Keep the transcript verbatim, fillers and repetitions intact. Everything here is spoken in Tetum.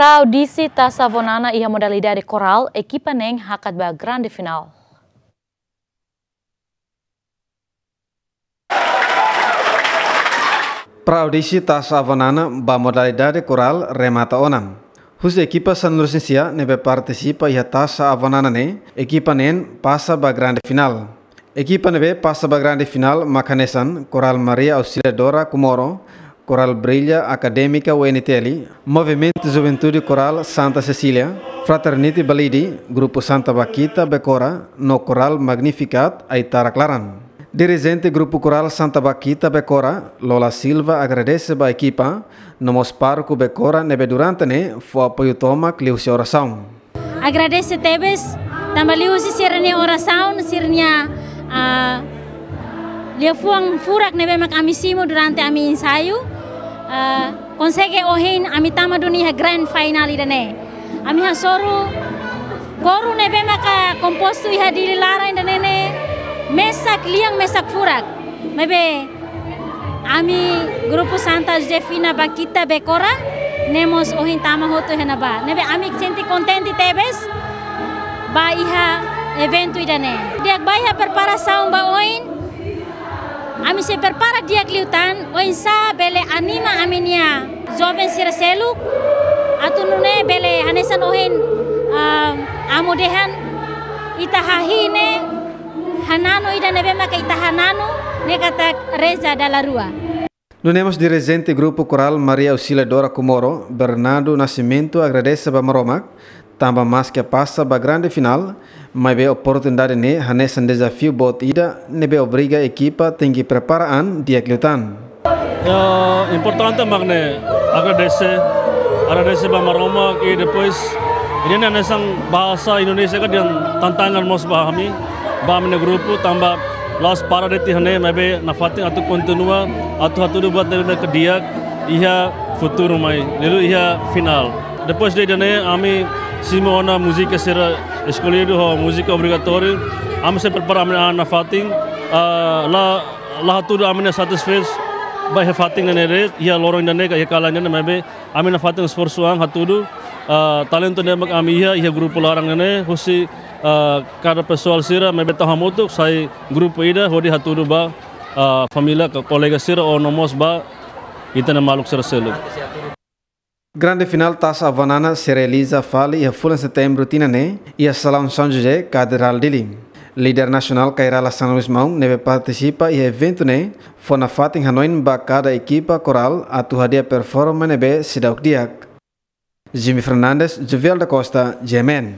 Audisi Taça Avó Nana iha modalidade korál, ekipa neen hakat ba grande finál. Pré-audisi Taça Avó Nana ba modalidade korál remata ona. Husi ekipa sanulu-resin-sia ne'ebé partisipa iha Taça Avó Nana ne'e, ekipa neen pasa ba grande finál. Ekipa ne'ebé pasa ba grande finál mak hanesan Korál Maria Auxiliadora Comoro, Korál Brilla Académica U N T L, Movimentu Juventude Korál Santa Cecília, Fraternity Balide, Grupu Santa Bakhita Becora, no Korál Magnificat Aitarak Laran. Dirijente Grupu Korál Santa Bakhita Becora, Lola Silva, agradese ba ekipa, no mós pároku Becora ne'ebé durante ne'e fó apoiu tomak liuhusi orasaun. Agradese tebes, tanba liuhusi sira-nia orasaun, sira-nia, ah, liafuan furak ne'ebé mak ami simu durante ami ensaiu, ah, konsege ohin ami tama duni iha grand final ida-ne'e. Ami hasoru koru ne'ebé maka kompostu iha Dili laran ida-ne'e ne'e mesak lian, mesak furak. Maibé ami Grupu Santa Josefina Bakhita Becora ne'e mós ohin tama hotu iha ne'ebá. Ne'ebé ami sente kontente tebes ba iha eventu ida-ne'e. Di'ak ba iha preparasaun ba oin, ami sei prepara di'ak liután, oinsá bele anima ami-nia joven sira seluk, atu nune'e bele hanesan ohin, ah, amu dehan, ita hahi'i ne'e, hananu ida ne'ebé maka ita hananu, ne'e katak reza dala rua. Nune'e mós dirijente Grupu Korál Maria Auxiliadora Comoro, Bernardo Nascimento, agradese ba Maromak, tanba maske pasa ba grande finál, maibé oportunidade ne'e hanesan dezafiu boot ida ne'ebé obriga ekipa tenke prepara an di'ak liután. Ya, importante mak ne'e agradese, agradese ba Maromak i depois ida-ne'e hanesan bahasa Indonesia ka dehan tantangan mós ba ami, ba ami-nia grupu tanba la'ós para de'it iha ne'e, maibé nafatin atu kontinua, atu hatudu buat ne'ebé ke di'ak iha futuru mai, liuliu iha finál. Depois de ida-ne'e ami simu ona múzika sira eskolhidu ho múzika obrigatóriu. Ami sei prepara ami-nia an nafatin, ah, la, la hatudu ami-nia satisfés ba iha fatin ne'e de'it, iha loron ida-ne'e ka iha kalan ida-ne'e, maibé ami nafatin esforsu an hatudu, ah, talentu ne'ebé mak ami iha, iha grupu laran ne'e, husi, ah, kada pesoál sira, maibé tau hamutuk sai grupu ida hodi hatudu ba, ah, família ka kolega sira ou no mós ba ita-nia maluk sira seluk. Grande finál Taça Avó Nana sei realiza fali iha fulan Setembru tinan ne'e, iha Salaun São José, Katedrál Dili. Líder nasionál Kay Rala Xanana Gusmão ne'ebé partisipa iha eventu ne'e, fó nafatin hanoin ba kada ekipa korál atu hadi'a performa ne'ebé seidauk di'ak. Jimmy Fernandes, Jovial da Costa, G M N.